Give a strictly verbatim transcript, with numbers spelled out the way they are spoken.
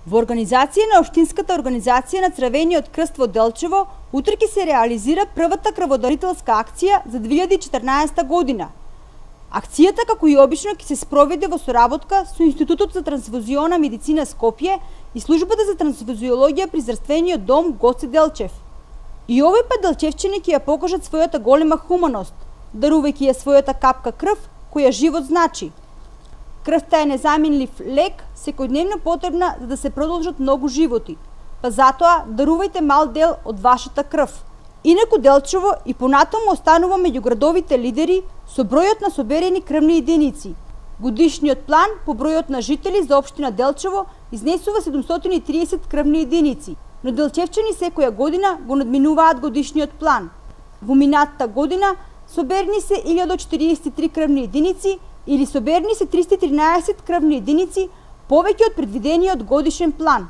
Во организација на Општинската организација на Црвениот крст во Делчево, утре ќе се реализира првата крводарителска акција за две илјади и четрнаесетта година. Акцијата, како и обично, ќе се спроведе во соработка со Институтот за трансфузиона медицина Скопје и Службата за трансфузиологија при Здравствениот дом Гоце Делчев. И овој пат делчевчани ќе ја покажат својата голема хуманост, дарувајќи ја својата капка крв, која живот значи. Крвта е незаменлив лек, секојдневно потребна за да се продолжат многу животи, па затоа дарувајте мал дел од вашата крв. Инаку Делчево и понатаму останува меѓу градовите лидери со бројот на соберени крвни единици. Годишниот план по бројот на жители за општина Делчево изнесува седумстотини и триесет крвни единици, но делчевчани секоја година го надминуваат годишниот план. Во минатата година соберени се илјада четириесет и три крвни единици или соберени се триста и тринаесет крвни единици повеќе од предвидениот годишен план.